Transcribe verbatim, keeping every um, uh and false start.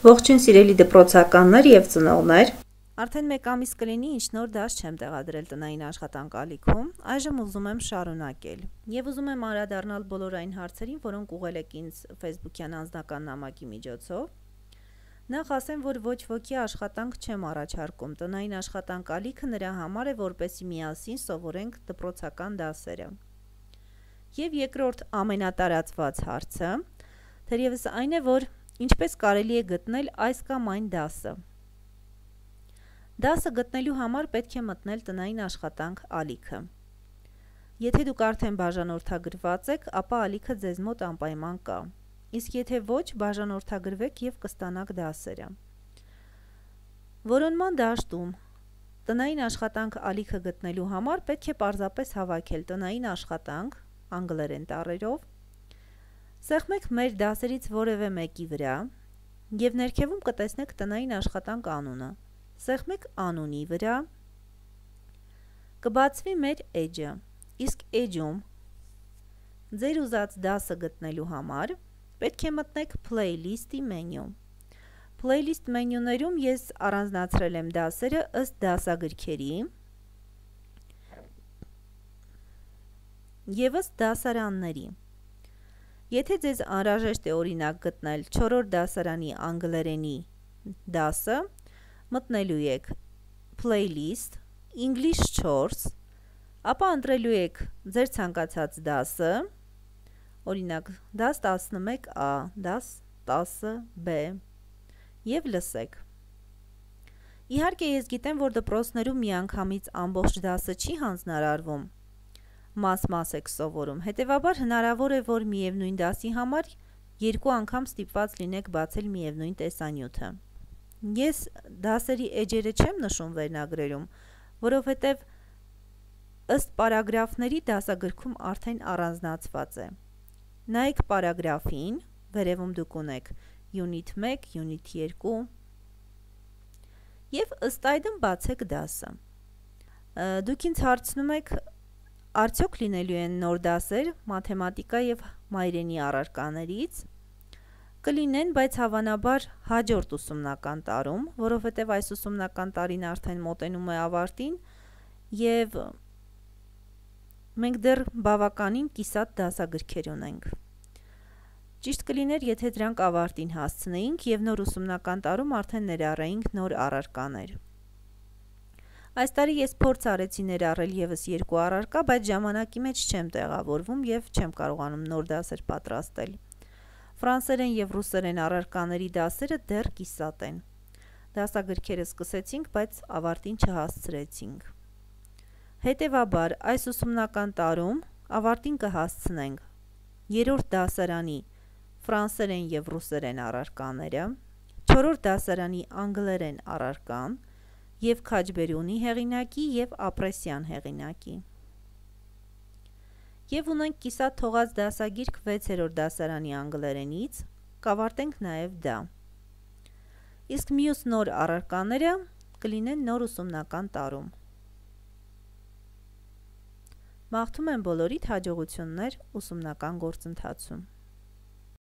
Ողջույն սիրելի դպրոցականներ և ծնողներ։ Արդեն մեկ ամիս կլինի, ինչ նոր դաս չեմ տեղադրել տնային աշխատանք ալիքում, այժմ ուզում եմ շարունակել և ուզում եմ անդրադառնալ բոլոր այն հարցերին, որոնք ուղղել եք ինձ Facebook-յան անձնական նամակի միջոցով։ Նախ ասեմ, որ ոչ ոքի աշխատանք չեմ առաջարկում, տնային աշխատանք ալիքը նրա համար է, որպեսզի միասին սովորենք դպրոցական դասերը։ Եվ երկրորդ ամենատարածված հարցը, թերևս այն է, որ ինչպես կարելի է գտնել այս կամ այն դասը։ Դասը գտնելու համար պետք է մտնել տնային աշխատանք ալիքը։ Եթե դուք արդեն բաժանորդագրված եք, ապա ալիքը ձեզ մոտ անպայման կա։ Իսկ եթե ոչ, բաժանորդագրվեք և կստանաք դասերը։ Որոնման դաշտում տնային աշխատանք ալիքը գտնելու համար պետք է պարզապես հավաքել տնային աշխատանք անգլերեն տառերով, սեղմեք մեր դասերից որևէ մեկի վրա և ներքևում կտեսնեք տնային աշխատանք անունը, սեղմեք անունի վրա, կբացվի մեր էջը, իսկ էջում ձեր ուզած դասը գտնելու համար պետք է մտնեք Playlist-ի մենյու։ Playlist մենյուներում ես առանձնացրել եմ դասերը ըստ դասագրքերի և ըստ դասարանների։ Եթե ձեզ անհրաժեշտ է օրինակ գտնել չորրորդ դասարանի անգլերենի դասը, մտնելու եք Playlist, English չորս, ապա ընտրելու եք ձեր ցանկացած դասը, օրինակ դաս տասնմեկ ա, դաս տասը բ և լսեք։ Իհարկե ես գիտեմ, որ դպրոցներում միանգամից ամբողջ դասը չի հանձնարարվում, մաս-մաս եք սովորում, հետևաբար հնարավոր է, որ միևնույն դասի համար երկու անգամ ստիպված լինեք բացել միևնույն տեսանյութը։ Ես դասերի էջերը չեմ նշում վերնագրերում, որովհետև ըստ պարագրաֆների դասագրքում արդեն առանձնացված է։ Նայեք պարագրաֆին, վերևում դուք ունեք Unit մեկ, Unit երկու և ըստ այդմ բացեք դասը։ Դուք ինձ հարցնում եք, արդյոք լինելու են նոր դասեր մաթեմատիկա և մայրենի առարկաներից։ Կլինեն, բայց հավանաբար հաջորդ ուսումնական տարում, որովհետև այս ուսումնական տարին արդեն մոտենում է ավարտին և մենք դեռ բավականին կիսատ դասագրքեր ունենք։ Ճիշտ կլիներ, եթե դրանք ավարտին հասցնեինք և նոր ուսումնական տարում արդեն ներառեինք նոր առարկաներ։ Այս տարի ես փորձ արեցի ներառել ևս երկու առարկա, բայց ժամանակի մեջ չեմ տեղավորվում և չեմ կարողանում նոր դասեր պատրաստել։ Ֆրանսերեն և ռուսերեն առարկաների դասերը դեռ կիսատ են։ Դասագրքերը սկսեցինք, բայց ավարտին չհասցրեցինք։ Հետևաբար, այս ուսումնական տարում ավարտին կհասցնենք երրորդ դասարանի ֆրանսերեն և ռուսերեն առարկաները, չորրորդ դասարանի անգլերեն առարկան և Քաջբերյունի հեղինակի և Ապրեսյան հեղինակի։ Եվ ունենք կիսատ թողած դասագիրք վեցերորդ դասարանի անգլերենից, կավարտենք նաև դա։ Իսկ մյուս նոր առարկաները կլինեն նոր ուսումնական տարում։ Մաղթում եմ բոլորիդ հաջողություններ ուսումնական գործընթացում։